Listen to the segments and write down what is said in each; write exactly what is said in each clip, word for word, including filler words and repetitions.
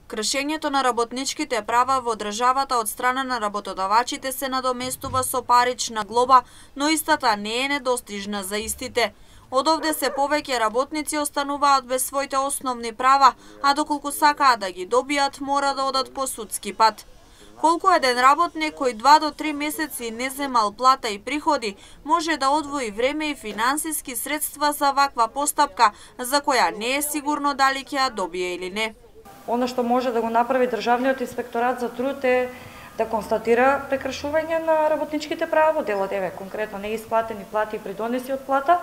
Кршењето на работничките права во државата од страна на работодавачите се надоместува со парична глоба, но истата не е недостижна за истите. Од овде се повеќе работници остануваат без своите основни права, а доколку сакаат да ги добијат, мора да одат по судски пат. Колку еден работник кој два до три месеци не земал плата и приходи, може да одвои време и финансиски средства за ваква постапка, за која не е сигурно дали ќе ја добие или не. Оно што може да го направи Државниот инспекторат за труд е да констатира прекршување на работничките права во делот еве конкретно неисплатени плати и придонеси од плата,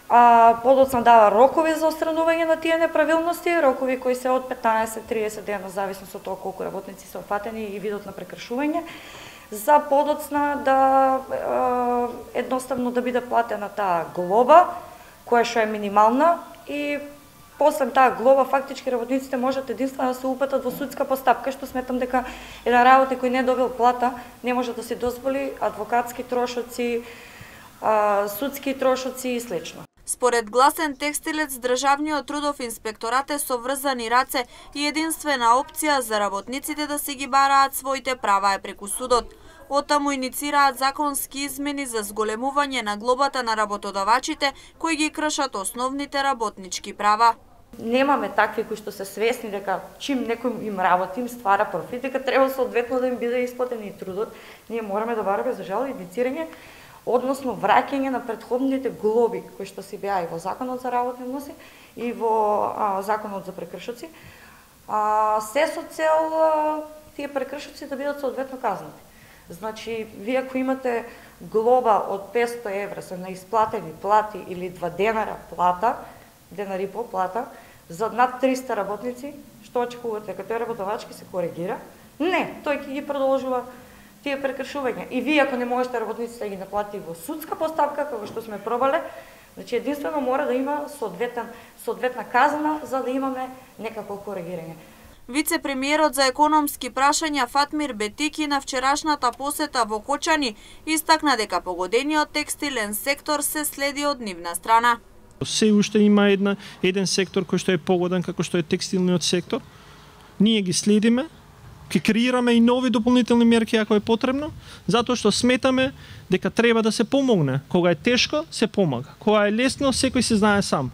а подоцна дава рокови за отстранување на тие неправилности, рокови кои се од петнаесет до триесет дена, зависно од тоа колку работници се опфатени и видот на прекршување, за подоцна да е, едноставно да биде платена таа глоба, која што е минимална, и после таа глоба фактички работниците можат единствено да се упатат во судска постапка, што сметам дека еден работник кој не добил плата не може да се дозволи адвокатски трошоци, судски трошоци и слично. Според Гласен текстилец, Државниот трудов инспекторат е со врзани раце и единствена опција за работниците да си ги бараат своите права е преку судот. Оттаму иницираат законски измени за зголемување на глобата на работодавачите кои ги кршат основните работнички права. Немаме такви кои што се свесни дека чим некој им работи, им ствара профит, дека треба соодветно да им биде исплатен и трудот. Ние мораме да бараме за жал индицирање, односно враќање на претходните глоби кои што си беа и во Законот за работни односи и во а, Законот за прекршоци, а, се со цел а, тие прекршоци да бидат соодветно казнати. Значи, вие ако имате глоба од петсто евра за неисплатени плати или два денара плата, денар и пол плата, за над триста работници, што очекувате, дека тој работодавач ќе се коригира? Не, тој ќе ги продолжува тие прекршувања. И вие ако не можете работниците да ги наплати во судска постапка, како што сме пробале, значи единствено мора да има соодветен соодветна казна за да имаме некакво коригирање. Вице-премиерот за економски прашања Фатмир Бетики на вчерашната посета во Кочани истакна дека погодениот текстилен сектор се следи од нивна страна. Се уште има една, еден сектор кој што е погоден како што е текстилниот сектор. Ние ги следиме, ќе креираме и нови дополнителни мерки ако е потребно, затоа што сметаме дека треба да се помогне. Кога е тешко, се помага. Кога е лесно, секој се знае сам.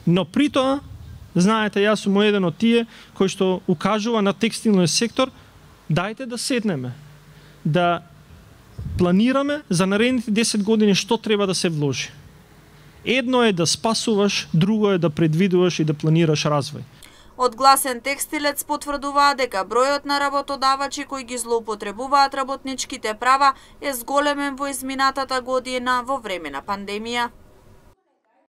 Но при тоа, знаете, јас сум еден од тие кој што укажува на текстилниот сектор, дајте да седнеме, да планираме за наредните десет години што треба да се вложи. Едно е да спасуваш, друго е да предвидуваш и да планираш развој. Од Гласен текстилец потврдуваа дека бројот на работодавачи кои ги злоупотребуваат работничките права е зголемен во изминатата година во време на пандемија.